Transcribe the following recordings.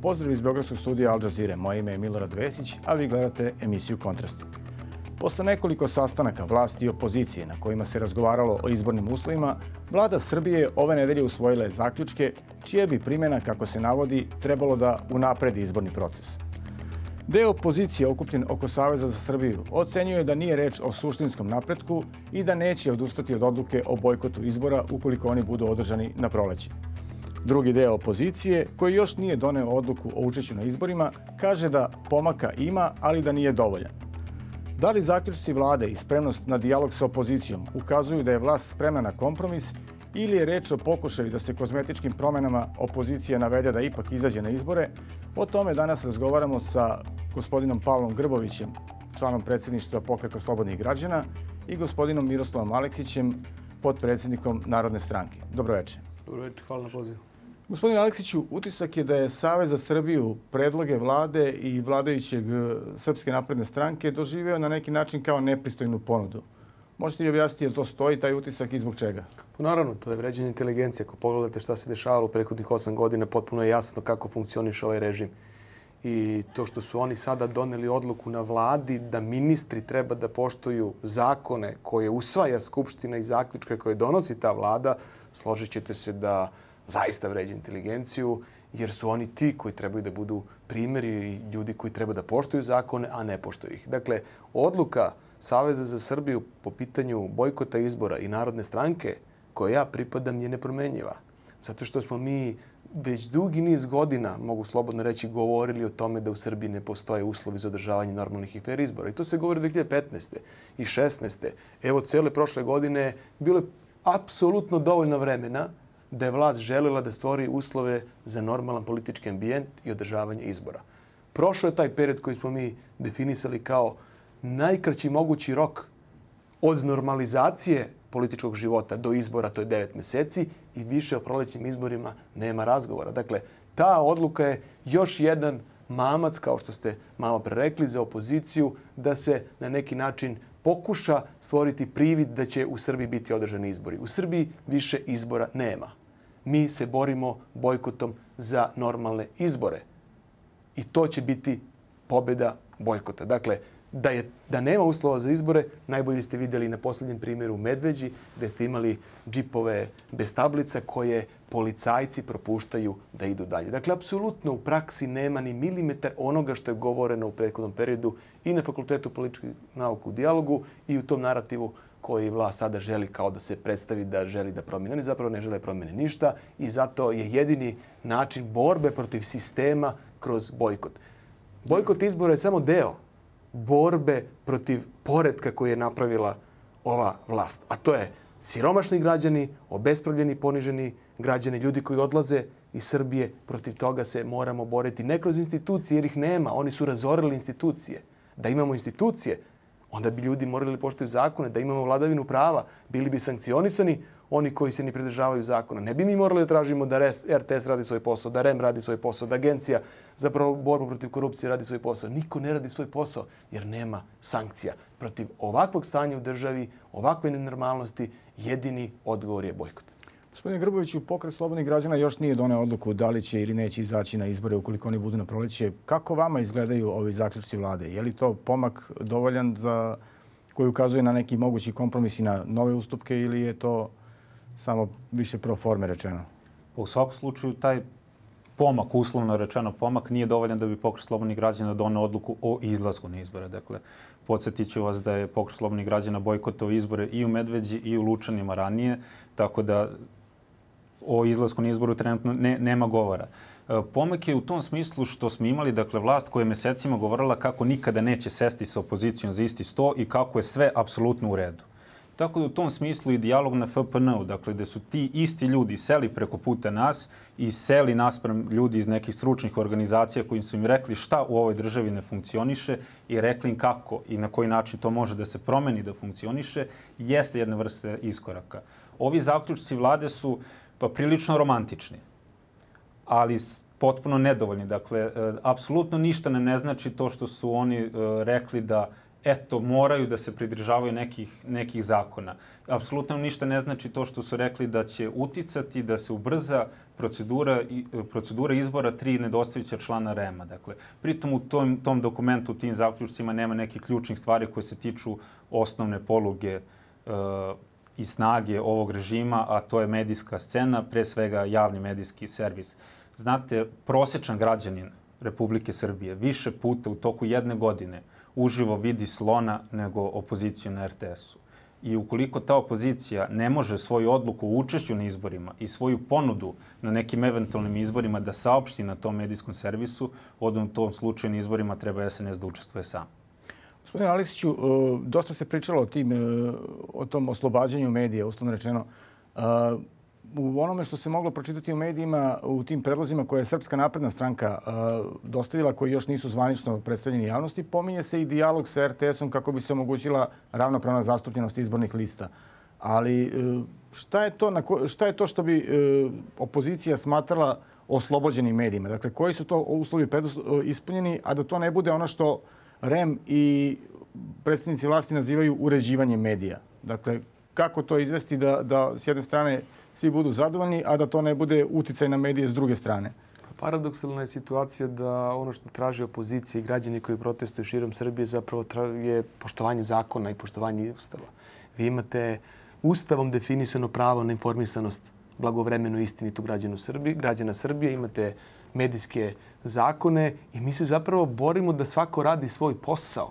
Pozdrav iz Beogradskog studija Al Jazeere. Moje ime je Milorad Vesić, a vi gledate emisiju Kontrasti. Posle nekoliko sastanaka vlasti i opozicije na kojima se razgovaralo o izbornim uslovima, Vlada Srbije ove nedelje usvojila je zaključke čija bi primjena, kako se navodi, trebalo da unapredi izborni proces. Deo opozicije okupljen oko Saveza za Srbiju ocenjuje da nije reč o suštinskom napretku i da neće odustati od odluke o bojkotu izbora ukoliko oni budu održani na proleće. Drugi deo opozicije, koji još nije doneo odluku o učešću na izborima, kaže da pomaka ima, ali da nije dovoljan. Da li zaključci vlade i spremnost na dijalog sa opozicijom ukazuju da je vlast spremna na kompromis ili je reč o pokušaju da se kozmetičkim promenama opozicija navede da ipak izađe na izbore? O tome danas razgovaramo sa gospodinom Pavlom Grbovićem, članom predsjedništva Pokreta slobodnih građana, i gospodinom Miroslavom Aleksićem, potpredsjednikom Narodne stranke. Dobro večer. Dobro večer, hvala na pozivu. Gospodine Aleksiću, utisak je da je Savez za Srbiju predloge vlade i vladajućeg Srpske napredne stranke doživeo na neki način kao nepristojnu ponudu. Možete li objasniti je li to stoji, taj utisak, i zbog čega? Pa naravno, to je vređanje inteligencije. Ako pogledate šta se dešavalo u prethodnih 8 godina, potpuno je jasno kako funkcioniše ovaj režim. I to što su oni sada doneli odluku na vladi da ministri treba da poštuju zakone koje usvaja Skupština i zaključke koje donosi ta vlada, složit ćete se da zaista vređa inteligenciju, jer su oni ti koji trebaju da budu primjeri i ljudi koji treba da poštuju zakone, a ne poštuju ih. Dakle, odluka Saveza za Srbiju po pitanju bojkota izbora i Narodne stranke, koje ja pripadam, je nepromenjiva. Zato što smo mi već dugi niz godina, mogu slobodno reći, govorili o tome da u Srbiji ne postoje uslovi za održavanje normalnih i fer izbora. I to se govori 2015. i 2016. Evo, cijele prošle godine bilo je apsolutno dovoljno vremena da je vlast željela da stvori uslove za normalan politički ambijent i održavanje izbora. Prošao je taj period koji smo mi definisali kao najkraći mogući rok od normalizacije političkog života do izbora, to je 9 mjeseci, i više o prolećnim izborima nema razgovora. Dakle, ta odluka je još jedan mamac, kao što ste malo pre rekli, za opoziciju da se na neki način pokuša stvoriti privid da će u Srbiji biti održani izbori. U Srbiji više izbora nema. Mi se borimo bojkotom za normalne izbore. I to će biti pobjeda bojkota. Dakle, da nema uslova za izbore, najbolje ste vidjeli na posljednjem primjeru u Medveđi, gdje ste imali džipove bez tablica koje policajci propuštaju da idu dalje. Dakle, apsolutno u praksi nema ni milimetar onoga što je govoreno u prethodnom periodu i na Fakultetu političkih nauka u dijalogu i u tom narativu koji vlast sada želi kao da se predstavi da želi da promijene. Oni zapravo ne žele promijene ništa i zato je jedini način borbe protiv sistema kroz bojkot. Bojkot izbora je samo deo borbe protiv poretka koji je napravila ova vlast. A to je siromašni građani, obespravljeni, poniženi građani, ljudi koji odlaze iz Srbije. Protiv toga se moramo boriti. Ne kroz institucije, jer ih nema. Oni su razorili institucije. Da imamo institucije, onda bi ljudi morali poštuju zakone, da imamo vladavinu prava, bili bi sankcionisani oni koji se ne pridržavaju zakona. Ne bi mi morali da tražimo da RTS radi svoj posao, da REM radi svoj posao, da Agencija za borbu protiv korupcije radi svoj posao. Niko ne radi svoj posao jer nema sankcija. Protiv ovakvog stanja u državi, ovakve nenormalnosti, jedini odgovor je bojkot. Gospodine Grboviću, Pokret slobodnih građana još nije doneo odluku da li će ili neće izaći na izbore ukoliko oni budu na proleće. Kako vama izgledaju ovi zaključci vlade? Je li to pomak dovoljan koji ukazuje na neki mogući kompromis i na nove ustupke ili je to samo više pro forme rečeno? U svakom slučaju taj pomak, uslovno rečeno pomak, nije dovoljan da bi Pokret slobodnih građana doneo odluku o izlasku na izbore. Dakle, podsjetit ću vas da je Pokret slobodnih građana bojkotovao izbore i u Medveđi i u Lučanima ranije, tako da o izlasku na izboru trenutno nema govora. Pomak je u tom smislu što smo imali, dakle, vlast koja je mesecima govorila kako nikada neće sesti sa opozicijom za isti sto i kako je sve apsolutno u redu. Tako da u tom smislu i dijalog na FPN-u, dakle, gde su ti isti ljudi seli preko puta nas i seli naspram ljudi iz nekih stručnih organizacija koji su im rekli šta u ovoj državi ne funkcioniše i rekli im kako i na koji način to može da se promeni da funkcioniše, jeste jedna vrsta iskoraka. Ovi zaključci vlade su prilično romantični, ali potpuno nedovoljni. Dakle, apsolutno ništa nam ne znači to što su oni rekli da eto, moraju da se pridržavaju nekih zakona. Apsolutno ništa ne znači to što su rekli da će uticati, da se ubrza procedura izbora 3 nedostajuća člana REM-a. Dakle, pritom u tom dokumentu, u tim zaključcima nema nekih ključnih stvari koje se tiču osnovne poluge i snage ovog režima, a to je medijska scena, pre svega javni medijski servis. Znate, prosječan građanin Republike Srbije više puta u toku jedne godine uživo vidi slona nego opoziciju na RTS-u. I ukoliko ta opozicija ne može svoju odluku o učešću na izborima i svoju ponudu na nekim eventualnim izborima da saopšti na tom medijskom servisu, onda u tom slučaju na izborima treba SNS da učestvuje sam. Gospodine Aleksiću, dosta se pričalo o tom oslobađanju medija, uslovno rečeno. U onome što se moglo pročitati u medijima, u tim predlozima koje je Srpska napredna stranka dostavila, koji još nisu zvanično predstavljeni javnosti, pominje se i dijalog sa RTS-om kako bi se omogućila ravnopravna zastupljenost izbornih lista. Ali šta je to što bi opozicija smatrala oslobođenim medijima? Dakle, koji su to uslovi ispunjeni, a da to ne bude ono što REM i predstavnici vlasti nazivaju uređivanjem medija? Dakle, kako to izvesti da s jedne strane svi budu zadovoljni, a da to ne bude uticaj na medije s druge strane? Paradoksalna je situacija da ono što traži opozicija i građani koji protestuju širom Srbije zapravo je poštovanje zakona i poštovanje Ustava. Vi imate Ustavom definisano pravo na informisanost blagovremeno i istinitu građana Srbije, imate medijske zakone i mi se zapravo borimo da svako radi svoj posao.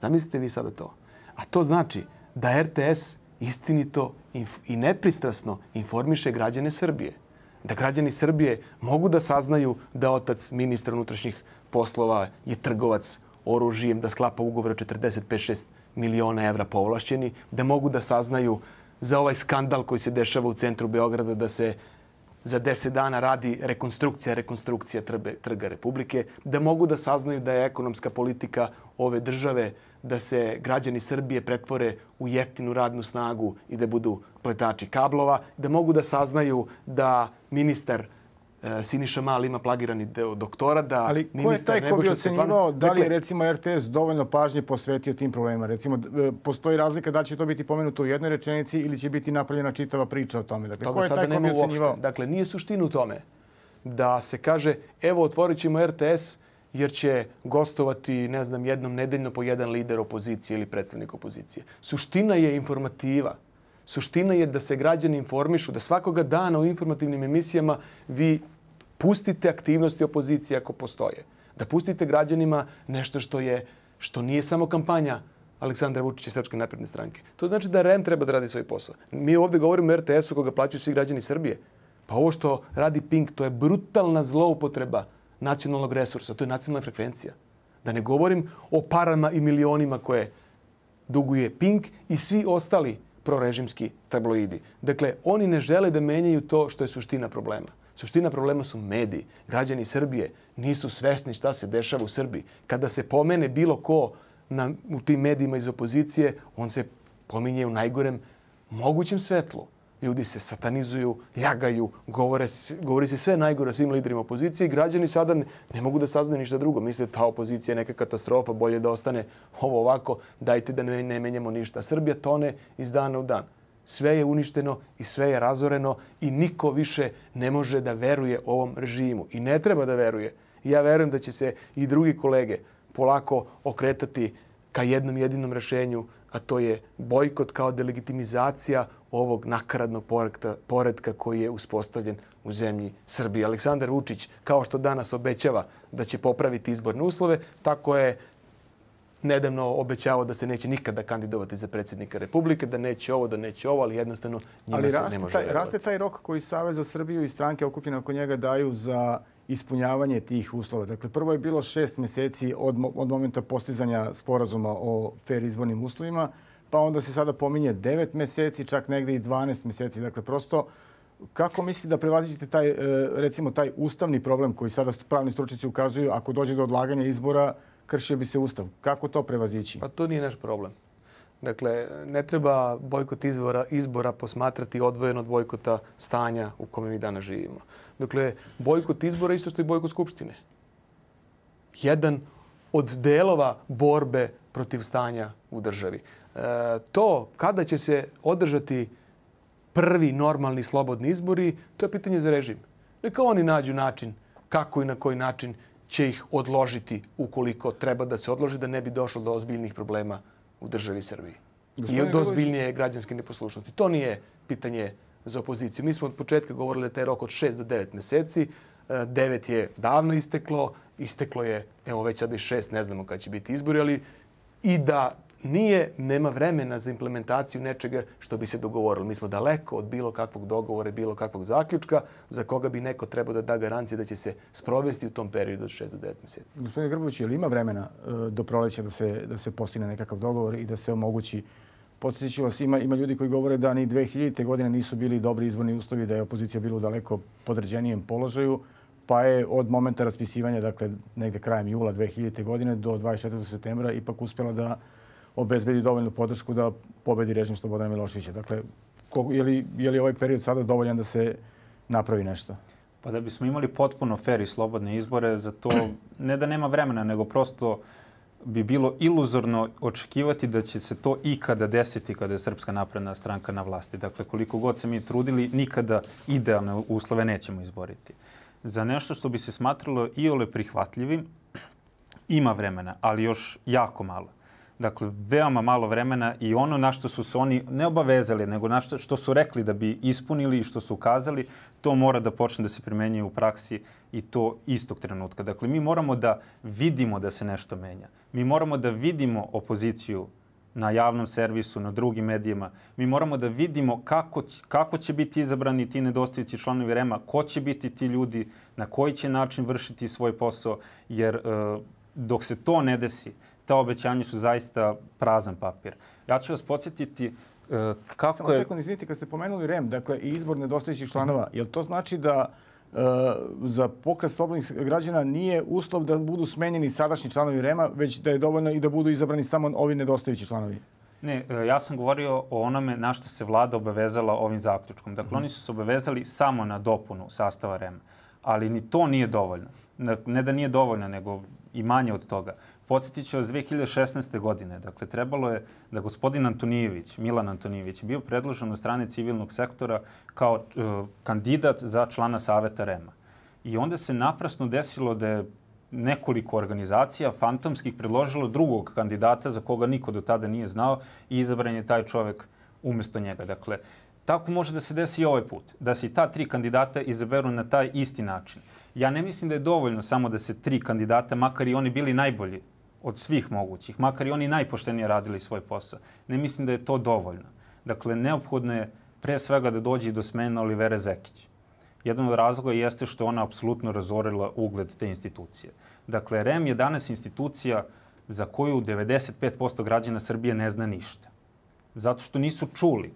Zamislite vi sada to. A to znači da RTS istinito i nepristrasno informiše građane Srbije. Da građani Srbije mogu da saznaju da otac ministra unutrašnjih poslova je trgovac oružjem, da sklapa ugovor 45-6 miliona evra povlašćeni, da mogu da saznaju za ovaj skandal koji se dešava u centru Beograda, da se za 10 dana radi rekonstrukcija Trga Republike, da mogu da saznaju da je ekonomska politika ove države da se građani Srbije pretvore u jeftinu radnu snagu i da budu pletači kablova, da mogu da saznaju da ministar Siniša Mali ima plagirani doktorat, da ali ko je taj ko bi ocenjivao da li je recimo RTS dovoljno pažnje posvetio tim problemima? Recimo, postoji razlika da li će to biti pomenuto u jednoj rečenici ili će biti napravljena čitava priča o tome. Dakle, ko je taj ko bi ocenjivao? Dakle, nije suština u tome da se kaže evo otvorit ćemo RTS jer će gostovati, ne znam, jednom nedeljno po jedan lider opozicije ili predstavnik opozicije. Suština je informativa. Suština je da se građani informišu, da svakoga dana u informativnim emisijama vi pustite aktivnosti opozicije ako postoje. Da pustite građanima nešto što nije samo kampanja Aleksandra Vučića i Srpske napredne stranke. To znači da REM treba da radi svoj posao. Mi ovdje govorimo o RTS-u koga plaćaju svi građani Srbije. Pa ovo što radi Pink, to je brutalna zloupotreba nacionalnog resursa. To je nacionalna frekvencija. Da ne govorim o parama i milionima koje duguje Pink i svi ostali prorežimski tabloidi. Dakle, oni ne žele da menjaju to što je suština problema. Suština problema su mediji. Građani Srbije nisu svesni šta se dešava u Srbiji. Kada se pomene bilo ko u tim medijima iz opozicije, on se pominje u najgorem mogućem svetlu. Ljudi se satanizuju, ljagaju, govori se sve najgore o svim liderima opozicije i građani sada ne mogu da saznaju ništa drugo. Misle ta opozicija je neka katastrofa, bolje da ostane ovo ovako, dajte da ne menjamo ništa. Srbija tone iz dana u dan. Sve je uništeno i sve je razoreno i niko više ne može da veruje ovom režimu. I ne treba da veruje. Ja verujem da će se i drugi kolege polako okretati ka jednom jedinom rešenju, a to je bojkot kao delegitimizacija ovog nakaradnog poretka koji je uspostavljen u zemlji Srbije. Aleksandar Vučić, kao što danas obećava da će popraviti izborne uslove, tako je nedavno obećavao da se neće nikada kandidovati za predsjednika Republike, da neće ovo, ali jednostavno njima se ne može verovati. Raste taj rok koji Savez za Srbiju i stranke okupljene oko njega daju za ispunjavanje tih uslova. Dakle, prvo je bilo 6 mjeseci od momenta postizanja sporazuma o fair izbornim uslovima, pa onda se sada pominje 9 mjeseci, čak negdje i 12 mjeseci. Dakle, prosto, kako mislite da prevaziđete taj ustavni problem koji sada pravni stručnjaci ukazuju, ako dođe do odlaganja izbora, kršio bi se ustav? Kako to prevazići? Pa to nije naš problem. Dakle, ne treba bojkot izbora posmatrati odvojeno od bojkota stanja u kome mi danas živimo. Dakle, bojkot izbora isto što i bojkot skupštine. Jedan od delova borbe protiv stanja u državi. To kada će se održati prvi normalni slobodni izbori, to je pitanje za režim. Neka oni nađu način kako i na koji način će ih odložiti ukoliko treba da se odloži, da ne bi došlo do ozbiljnih problema u državi Srbiji. I do ozbiljnije građanske neposlušnosti. To nije pitanje za opoziciju. Mi smo od početka govorili da taj rok od 6 do 9 meseci. 9 je davno isteklo. Isteklo je, evo već sada i 6, ne znamo kada će biti izbori, ali i da nema vremena za implementaciju nečega što bi se dogovorilo. Mi smo daleko od bilo kakvog dogovora, bilo kakvog zaključka za koga bi neko trebao da da garancije da će se sprovesti u tom periodu od 6 do 9 meseci. Gospodine Grbović, je li ima vremena do proleća da se postigne nekakav dogovor i da se omogući? Podsjetit ću vas, ima ljudi koji govore da ni 2000. godine nisu bili dobri izborni uslovi, da je opozicija bila u daleko podređenijem položaju, pa je od momenta raspisivanja, dakle negde krajem jula 2000. godine do 24. septembra ipak uspjela da obezbedi dovoljnu podršku da pobedi režim Slobodana Miloševića. Dakle, je li ovaj period sada dovoljan da se napravi nešto? Pa da bismo imali potpuno fer i slobodne izbore, za to ne da nema vremena, nego prosto bi bilo iluzorno očekivati da će se to ikada desiti kada je Srpska napredna stranka na vlasti. Dakle, koliko god se mi trudili, nikada idealne uslove nećemo izboriti. Za nešto što bi se smatralo iole prihvatljivim, ima vremena, ali još jako malo. Dakle, veoma malo vremena i ono na što su se oni ne obavezali, nego na što su rekli da bi ispunili i što su ukazali, to mora da počne da se primenjuje u praksi i to istog trenutka. Dakle, mi moramo da vidimo da se nešto menja. Mi moramo da vidimo opoziciju na javnom servisu, na drugim medijima. Mi moramo da vidimo kako će biti izabrani ti nedostajući članovi REM-a, ko će biti ti ljudi, na koji će način vršiti svoj posao, jer dok se to ne desi, ta obećanja su zaista prazan papir. Ja ću vas podsjetiti kako Samo sekund, izvinite, kad ste pomenuli REM, dakle i izbor nedostajućih članova, jel to znači da za Pokret slobodnih građana nije uslov da budu smenjeni sadašnji članovi REM-a, već da je dovoljno i da budu izabrani samo ovi nedostajući članovi? Ne, ja sam govorio o onome na što se vlada obavezala ovim zaključkom. Dakle, oni su se obavezali samo na dopunu sastava REM-a, ali ni to nije dovoljno. Ne da nije dovoljno, nego i manje od toga. Podsjetit ću vas 2016. godine. Dakle, trebalo je da gospodin Antonijević, Milan Antonijević, bio predložen od strane civilnog sektora kao kandidat za člana Saveta REM-a. I onda se naprasno desilo da je nekoliko organizacija fantomskih predložilo drugog kandidata za koga niko do tada nije znao i izabran je taj čovek umjesto njega. Dakle, tako može da se desi i ovaj put. Da se i ta 3 kandidata izaberu na taj isti način. Ja ne mislim da je dovoljno samo da se 3 kandidata, makar i oni bili najbolji od svih mogućih, makar i oni najpoštenije radili svoj posao. Ne mislim da je to dovoljno. Dakle, neophodno je pre svega da dođe i do smene Olivere Zekić. Jedan od razloga jeste što ona apsolutno razorila ugled te institucije. Dakle, REM je danas institucija za koju 95% građana Srbije ne zna ništa. Zato što nisu čuli.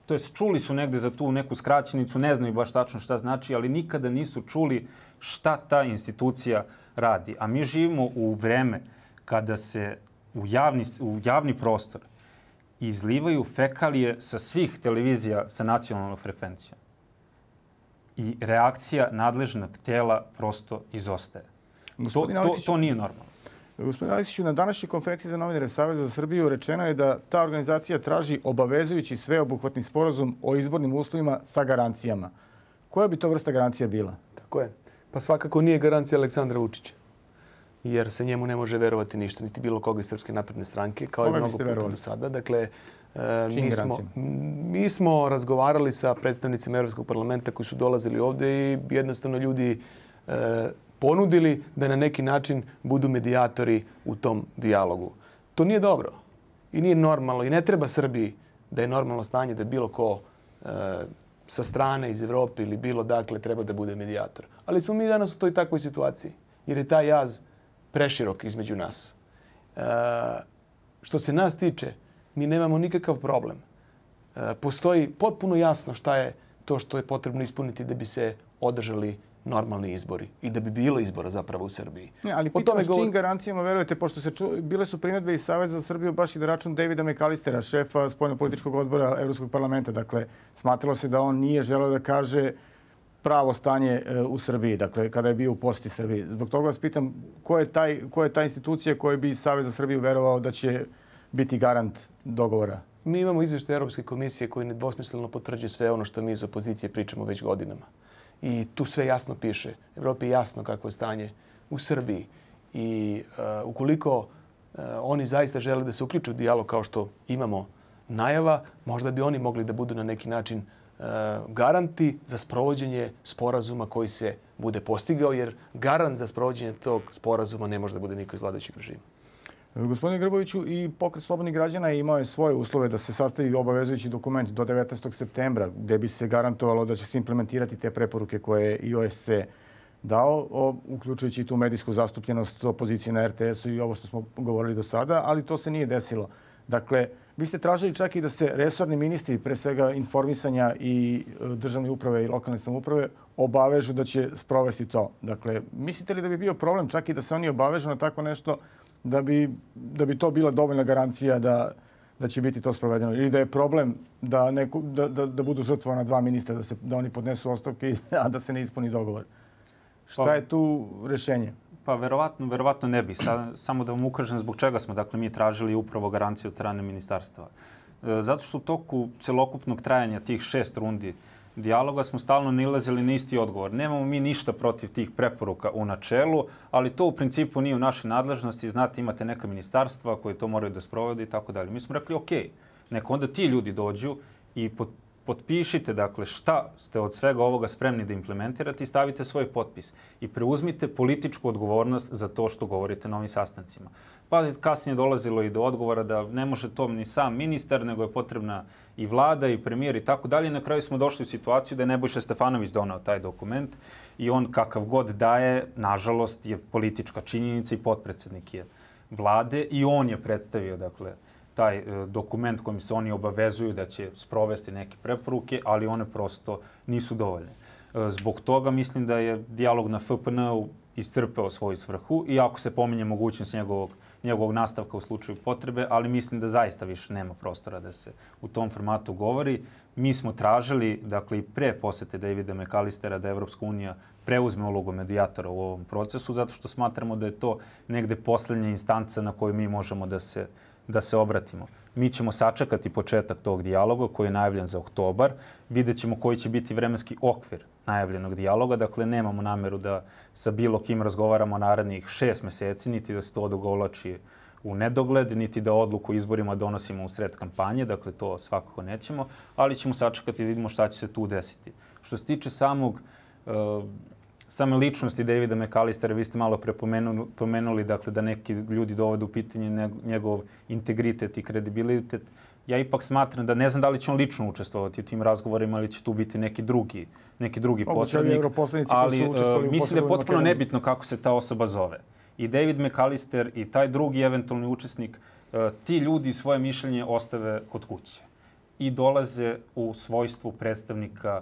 To jest, čuli su negde za tu neku skraćenicu, ne znaju baš tačno šta znači, ali nikada nisu čuli šta ta institucija radi. A mi živimo u vreme kada se u javni prostor izlivaju fekalije sa svih televizija sa nacionalnom frekvencijom. I reakcija nadležnog tela prosto izostaje. To nije normalno. Gospodine Aleksiću, na današnjoj konferenciji za novinare Saveza za Srbiju rečeno je da ta organizacija traži obavezujući sveobuhvatni sporazum o izbornim uslovima sa garancijama. Koja bi to vrsta garancija bila? Tako je. Pa svakako nije garancija Aleksandra Vučića. Jer se njemu ne može verovati ništa, niti bilo koga iz Srpske napredne stranke, kao i mnogo puta do sada. Dakle, mi smo razgovarali sa predstavnicima Evropskog parlamenta koji su dolazili ovde i jednostavno ljudi ponudili da na neki način budu medijatori u tom dijalogu. To nije dobro i nije normalno i ne treba Srbiji da je normalno stanje da bilo ko sa strane iz Evrope ili bilo dakle treba da bude medijator. Ali smo mi danas u toj takvoj situaciji jer je taj jaz preširok između nas. Što se nas tiče, mi nemamo nikakav problem. Postoji potpuno jasno šta je to što je potrebno ispuniti da bi se održali normalni izbori i da bi bilo izbora zapravo u Srbiji. Ali pitam vas čim garancijama verujete, pošto bile su primjedbe iz Saveza za Srbiju baš i na račun Davida McAllistera, šefa spoljnopolitičkog odbora Evropskog parlamenta. Dakle, smatralo se da on nije želeo da kaže pravo stanje u Srbiji, dakle, kada je bio u posjeti Srbiji. Zbog toga vas pitam, ko je ta institucija koja bi Savez za Srbiju verovao da će biti garant dogovora? Mi imamo izvještaj Europske komisije koji nedvosmisleno potvrđuje sve ono što mi iz opozicije pričamo već godinama. I tu sve jasno piše. Evropi je jasno kako je stanje u Srbiji. I ukoliko oni zaista žele da se uključe u dijalog kao što imamo najava, možda bi oni mogli da budu na neki način garanti za sprovođenje sporazuma koji se bude postigao, jer garant za sprovođenje tog sporazuma ne može da bude niko iz vladajućeg režima. Gospodine Grboviću, i Pokret slobodnih građana imao je svoje uslove da se sastavi obavezujući dokument do 19. septembra gdje bi se garantovalo da će se implementirati te preporuke koje je i OSCE dao, uključujući i tu medijsku zastupljenost opozicije na RTS-u i ovo što smo govorili do sada, ali to se nije desilo. Dakle, vi ste tražili čak i da se resorni ministri, pre svega informisanja i državne uprave i lokalne samouprave, obavežu da će sprovesti to. Dakle, mislite li da bi bio problem čak i da se oni obavežu na tako nešto da bi to bila dovoljna garancija da će biti to sprovedeno? Ili da je problem da budu žrtvovana dva ministra, da oni podnesu ostavke, a da se ne ispuni dogovor? Šta je tu rješenje? Pa verovatno ne bi. Samo da vam ukažem zbog čega smo mi tražili upravo garanciju od strane ministarstva. Zato što u toku celokupnog trajanja tih 6 rundi dijaloga smo stalno nalazili na isti odgovor. Nemamo mi ništa protiv tih preporuka u načelu, ali to u principu nije u našoj nadležnosti. Znate, imate neka ministarstva koje to moraju da sprovode i tako dalje. Mi smo rekli, ok, neka onda ti ljudi dođu i potpišite, dakle, šta ste od svega ovoga spremni da implementirate i stavite svoj potpis. I preuzmite političku odgovornost za to što govorite na ovim sastancima. Pa kasnije dolazilo i do odgovora da ne može to ni sam ministar, nego je potrebna i vlada i premijer i tako dalje. Na kraju smo došli u situaciju da je Nebojša Stefanović donao taj dokument i on kakav god daje, nažalost, je politička činjenica i potpredsednik je vlade i on je predstavio, dakle, taj dokument kojim se oni obavezuju da će sprovesti neke preporuke, ali one prosto nisu dovoljne. Zbog toga mislim da je dijalog na FPN-u iscrpeo svoju svrhu, iako se pominje mogućnost njegovog nastavka u slučaju potrebe, ali mislim da zaista više nema prostora da se u tom formatu govori. Mi smo tražili, dakle, i pre posete Davida McAllistera da Evropska unija preuzme ulogu medijatora u ovom procesu, zato što smatramo da je to negde poslednja instanca na koju mi možemo da se obratimo. Mi ćemo sačekati početak tog dijaloga koji je najavljen za oktobar. Vidjet ćemo koji će biti vremenski okvir najavljenog dijaloga. Dakle, nemamo nameru da sa bilo kim razgovaramo narednih 6 meseci, niti da se to odugovlači u nedogled, niti da odluku o izborima donosimo u sred kampanje. Dakle, to svakako nećemo, ali ćemo sačekati i vidimo šta će se tu desiti. Što se tiče same ličnosti Davida McAllistera, vi ste malo pomenuli, dakle, da neki ljudi dovode u pitanje njegov integritet i kredibilitet. Ja ipak smatram da ne znam da li će on lično učestvovati u tim razgovorima ili će tu biti neki drugi posrednik, ali mislim da je potpuno nebitno kako se ta osoba zove. I David McAllister i taj drugi eventualni učesnik, ti ljudi svoje mišljenje ostave kod kuće i dolaze u svojstvu predstavnika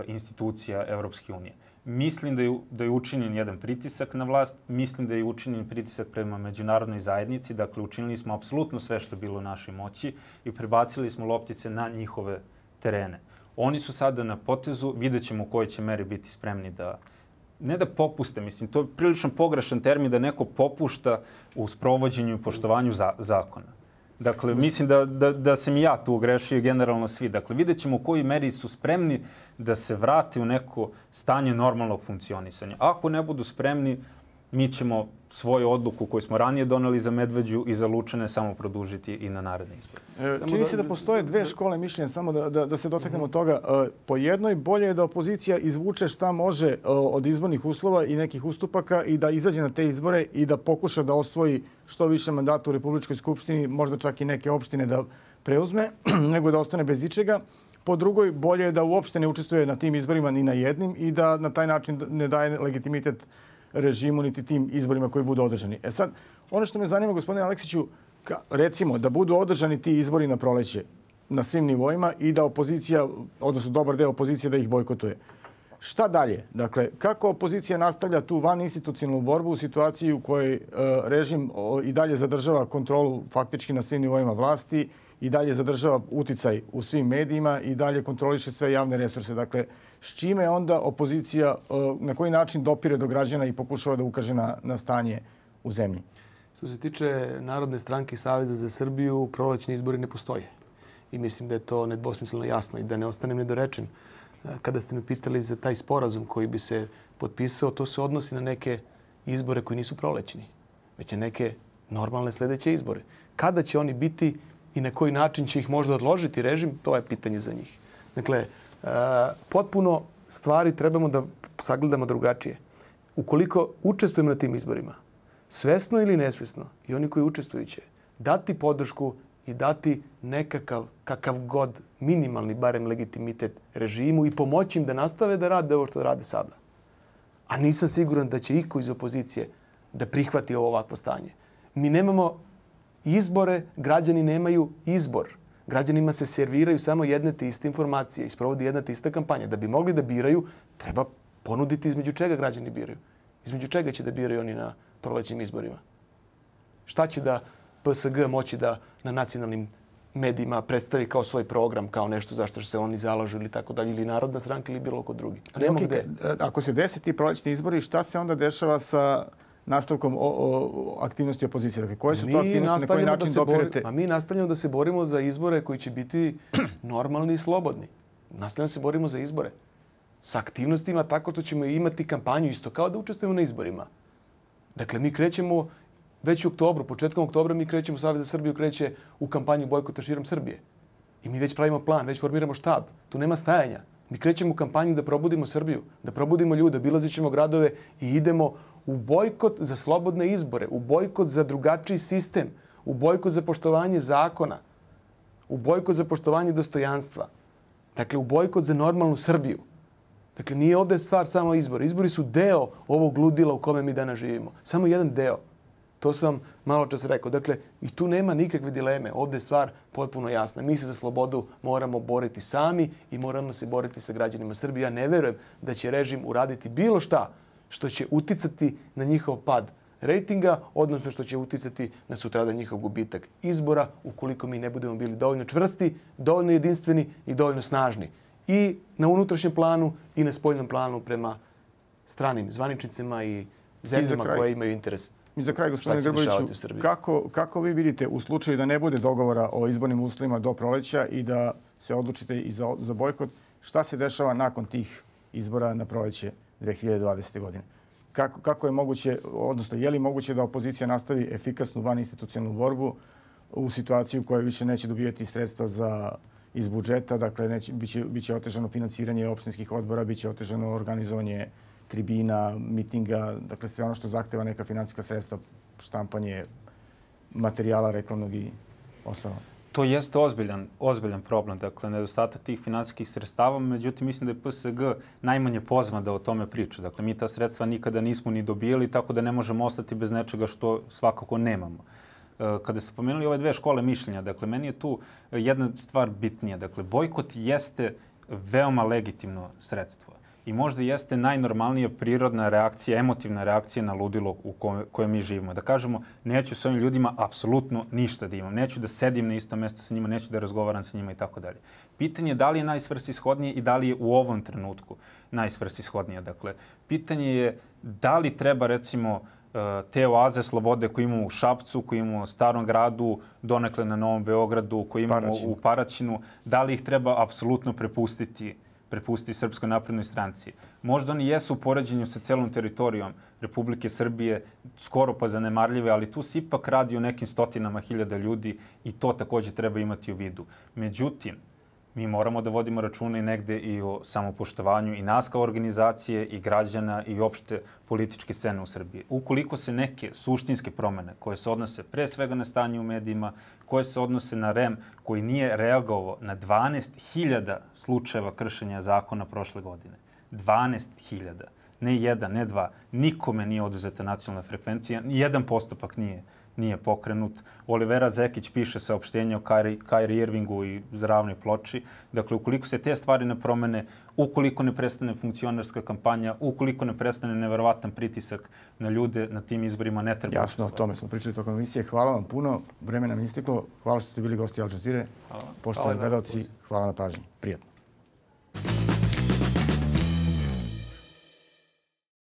institucija Evropske unije. Mislim da je učinjen jedan pritisak na vlast, mislim da je učinjen pritisak prema međunarodnoj zajednici, dakle učinili smo apsolutno sve što je bilo u našoj moći i prebacili smo loptice na njihove terene. Oni su sada na potezu, vidjet ćemo u kojoj će meri biti spremni ne da popuste, mislim, to je prilično pogrešan termin da neko popušta u sprovođenju i poštovanju zakona. Dakle, mislim da sam i ja tu grešio i generalno svi. Dakle, vidjet ćemo u kojoj meri su spremni da se vrate u neko stanje normalnog funkcionisanja. Ako ne budu spremni, mi ćemo svoju odluku koju smo ranije doneli za Medveđu i za Lučane samo produžiti i na naredne izbore. Čini se da postoje dve škole mišljenja, samo da se dotaknemo toga. Po jednoj, bolje je da opozicija izvuče šta može od izbornih uslova i nekih ustupaka i da izađe na te izbore i da pokuša da osvoji što više mandata u Republičkoj skupštini, možda čak i neke opštine da preuzme, nego da ostane bez ičega. Po drugoj, bolje je da uopšte ne učestvuje na tim izborima ni na jednim i da na taj način ne daje legitimitet režimu niti tim izborima koji budu održani. Sad, ono što me zanima, gospodine Aleksiću, recimo da budu održani ti izbori na proleće na svim nivoima i da opozicija, odnosno dobar deo opozicije da ih bojkotuje. Šta dalje? Dakle, kako opozicija nastavlja tu vaninstitucionalnu borbu u situaciji u kojoj režim i dalje zadržava kontrolu faktički na svim nivoima vlasti i dalje zadržava uticaj u svim medijima i dalje kontroliše sve javne resurse. Dakle, s čime onda opozicija, na koji način dopire do građana i pokušava da ukaže na stanje u zemlji? Što se tiče Narodne stranke i Saveza za Srbiju, prolećni izbori ne postoje. I mislim da je to nedvosmisleno jasno i da ne ostanem nedorečen. kada ste me pitali za taj sporazum koji bi se potpisao, to se odnosi na neke izbore koji nisu prolećni, već na neke normalne sljedeće izbore. Kada će oni biti i na koji način će ih možda odložiti režim, to je pitanje za njih. Dakle, potpuno stvari trebamo da sagledamo drugačije. Ukoliko učestvujemo na tim izborima, svesno ili nesvesno, i oni koji učestvuju će dati podršku i dati nekakav, kakav god, minimalni, barem legitimitet režimu i pomoći im da nastave da rade ovo što rade sada. A nisam siguran da će iko iz opozicije da prihvati ovo ovakvo stanje. Mi nemamo izbore, građani nemaju izbor. Građanima se serviraju samo jedne te iste informacije i sprovodi jedna te ista kampanja. Da bi mogli da biraju, treba ponuditi između čega građani biraju. Između čega će da biraju oni na prolećnim izborima. Šta će da PSG moći da na nacionalnim medijima predstavi kao svoj program, kao nešto zašto se oni zalažu ili tako dalje, ili Narodna stranka ili bilo ko drugi. Ako se desi ti prolećni izbori, šta se onda dešava sa nastavkom aktivnosti opozicije? Dakle, koje su to aktivnosti, na koji način dopirate? Mi nastavljamo da se borimo za izbore koji će biti normalni i slobodni. Nastavljamo da se borimo za izbore. Sa aktivnostima tako što ćemo imati kampanju isto kao da učestvujemo na izborima. Dakle, mi krećemo već u oktobru, početkom oktobra mi krećemo, Savez za Srbiju kreće u kampanju bojkota širom Srbije. I mi već pravimo plan, već formiramo štab. Tu nema stajanja. Mi krećemo u kampanju da probudimo Srbiju, da probudimo ljude, obilazit ćemo gradove i idemo u bojkot za slobodne izbore, u bojkot za drugačiji sistem, u bojkot za poštovanje zakona, u bojkot za poštovanje dostojanstva. Dakle, u bojkot za normalnu Srbiju. Dakle, nije ovdje stvar samo izbori. Izbori su deo ovog ludila u kome mi danas živimo. Samo jedan deo. To sam malo čas rekao. Dakle, i tu nema nikakve dileme. Ovdje je stvar potpuno jasna. Mi se za slobodu moramo boriti sami i moramo se boriti sa građanima Srbije. Ja ne verujem da će režim uraditi bilo šta što će uticati na njihov pad rejtinga, odnosno što će uticati na sutradan njihov gubitak izbora, ukoliko mi ne budemo bili dovoljno čvrsti, dovoljno jedinstveni i dovoljno snažni. I na unutrašnjem planu i na spoljnom planu prema stranim zvaničnicima i zemljama koje imaju interes. I za kraj, gospodine Grboviću, kako vi vidite u slučaju da ne bude dogovora o izbornim uslovima do proleća i da se odlučite i za bojkot, šta se dešava nakon tih izbora na proleće 2020. godine? Kako je moguće, odnosno je li moguće da opozicija nastavi efikasnu vaninstitucionalnu borbu u situaciji u kojoj više neće dobijati sredstva iz budžeta, dakle biće otežano finansiranje opštinskih odbora, biće otežano organizovanje tribina, mitinga, dakle sve ono što zahteva neka finansijska sredstva, štampanje materijala reklamnog i ostalo. To jeste ozbiljan problem, dakle nedostatak tih finansijskih sredstava, međutim mislim da je PSG najmanje pozvan da o tome priča. Dakle, mi ta sredstva nikada nismo ni dobijali, tako da ne možemo ostati bez nečega što svakako nemamo. Kada ste pomenuli ove dve škole mišljenja, dakle, meni je tu jedna stvar bitnija. Dakle, bojkot jeste veoma legitimno sredstvo i možda jeste najnormalnija prirodna reakcija, emotivna reakcija na ludilo u kojem mi živimo. Da kažemo, neću s ovim ljudima apsolutno ništa da imam, neću da sedim na isto mjesto sa njima, neću da razgovaram sa njima i tako dalje. Pitanje je da li je najsvrsishodnije i da li je u ovom trenutku najsvrsishodnije. Dakle, pitanje je da li treba, recimo, te oaze slobode koje imamo u Šapcu, koje imamo u Starom gradu, donekle na Novom Beogradu, koje imamo u Paraćinu, da li ih treba apsolutno prepustiti Srpskoj naprednoj stranci. Možda oni jesu u poređenju sa celom teritorijom Republike Srbije skoro pa zanemarljive, ali tu se ipak radi o nekim stotinama hiljada ljudi i to također treba imati u vidu. Međutim, mi moramo da vodimo računa i negde i o samopoštovanju i nas kao organizacije i građana i opšte političke scene u Srbiji. Ukoliko se neke suštinske promene koje se odnose pre svega na stanje u medijima, koje se odnose na REM koji nije reagovao na 12.000 slučajeva kršenja zakona prošle godine. 12.000. Ne jedan, ne dva. Nikome nije oduzeta nacionalna frekvencija. Nijedan postupak nije pokrenut. Olivera Zekić piše saopštenje o Kyrie Irvingu i Zdravnoj ploči. Dakle, ukoliko se te stvari ne promene, ukoliko ne prestane funkcionarska kampanja, ukoliko ne prestane neverovatan pritisak na ljude na tim izborima, ne treba... Jasno, o tome smo pričali tokom emisije. Hvala vam puno. Vreme nam isteklo. Hvala što ste bili gosti Al Jazeere. Poštovani gledalci, hvala na pažnji. Prijatno.